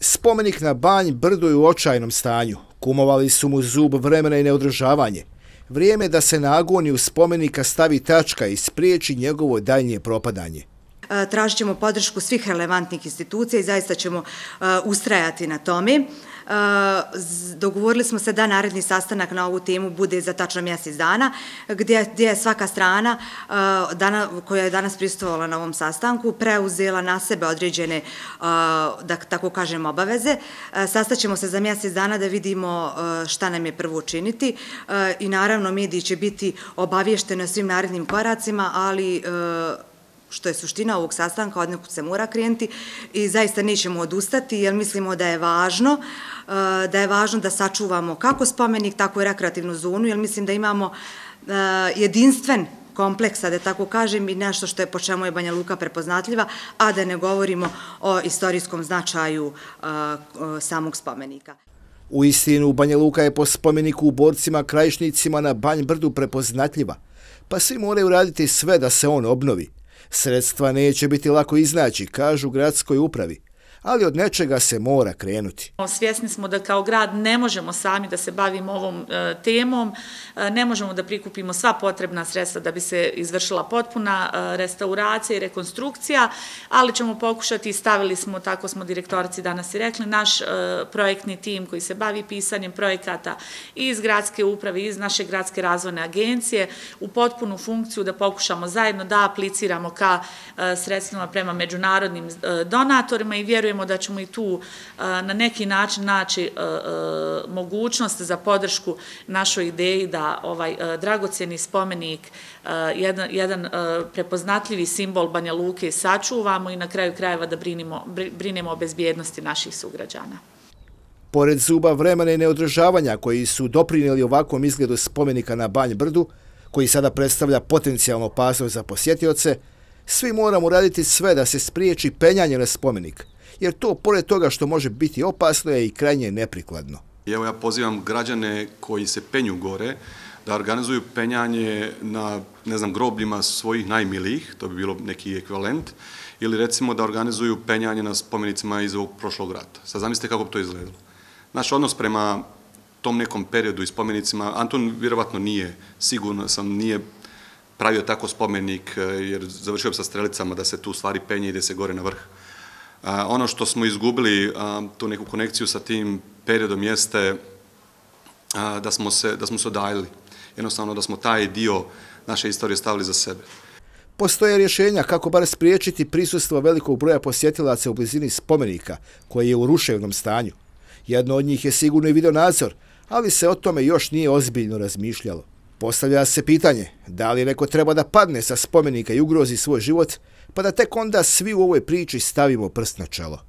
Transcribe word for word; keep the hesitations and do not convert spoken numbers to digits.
Spomenik na Banj Brdu je u očajnom stanju. Kumovali su mu zub vremena i neodržavanje. Vrijeme da se na agoniju spomenika stavi tačka i spriječi njegovo daljnje propadanje. Tražit ćemo podršku svih relevantnih institucija i zaista ćemo ustrajati na tome. Dogovorili smo se da naredni sastanak na ovu temu bude za tačno mjesec dana, gdje je svaka strana koja je danas prisustvovala na ovom sastanku preuzela na sebe određene, da tako kažem, obaveze. Sastaćemo se za mjesec dana da vidimo šta nam je prvo učiniti i naravno mediji će biti obavješteni o svim narednim koracima, ali što je suština ovog sastanka, od nekud se mora krenuti i zaista nećemo odustati jer mislimo da je važno da je važno da sačuvamo kako spomenik, tako i rekreativnu zonu, jer mislim da imamo jedinstven kompleksa, da tako kažem, i nešto što je po čemu je Banja Luka prepoznatljiva, a da ne govorimo o istorijskom značaju samog spomenika. U istinu, Banja Luka je po spomeniku u borcima krajišnicima na Banj Brdu prepoznatljiva, pa svi moraju raditi sve da se on obnovi. Sredstva neće biti lako iznaći, kažu gradskoj upravi, ali od nečega se mora krenuti. Svjesni smo da kao grad ne možemo sami da se bavimo ovom e, temom, e, ne možemo da prikupimo sva potrebna sredstva da bi se izvršila potpuna e, restauracija i rekonstrukcija, ali ćemo pokušati i stavili smo, tako smo direktorici danas i rekli, naš e, projektni tim koji se bavi pisanjem projekata iz gradske uprave, iz naše gradske razvojne agencije u potpunu funkciju da pokušamo zajedno da apliciramo ka e, sredstvima prema međunarodnim e, donatorima i vjerujemo da ćemo i tu na neki način naći mogućnost za podršku našoj ideji da ovaj dragocjeni spomenik, jedan, jedan prepoznatljivi simbol Banja Luke sačuvamo i na kraju krajeva da brinimo, brinemo o bezbjednosti naših sugrađana. Pored zuba vremena i neodržavanja koji su doprinijeli ovakvom izgledu spomenika na Banj Brdu, koji sada predstavlja potencijalnu opasnost za posjetioce, svi moramo raditi sve da se spriječi penjanje na spomenik, jer to, pored toga što može biti opasno, je i krajnje neprikladno. Evo ja pozivam građane koji se penju gore da organizuju penjanje na, ne znam, grobljima svojih najmilijih, to bi bilo neki ekvivalent, ili recimo da organizuju penjanje na spomenicima iz ovog prošlog rata. Sad zamislite kako bi to izgledalo. Naš odnos prema tom nekom periodu i spomenicima, Anton vjerovatno nije, sigurno sam, nije pravio tako spomenik, jer završio bi sa strelicama da se tu stvari penje i ide se gore na vrh. Ono što smo izgubili, tu neku konekciju sa tim periodom, jeste da smo se, da smo se odaljili. Jednostavno da smo taj dio naše istorije stavili za sebe. Postoje rješenja kako bar spriječiti prisustvo velikog broja posjetilaca u blizini spomenika, koji je u ruševnom stanju. Jedno od njih je sigurno i videonadzor, ali se o tome još nije ozbiljno razmišljalo. Postavlja se pitanje, da li neko treba da padne sa spomenika i ugrozi svoj život, pa da tek onda svi u ovoj priči stavimo prst na čelo.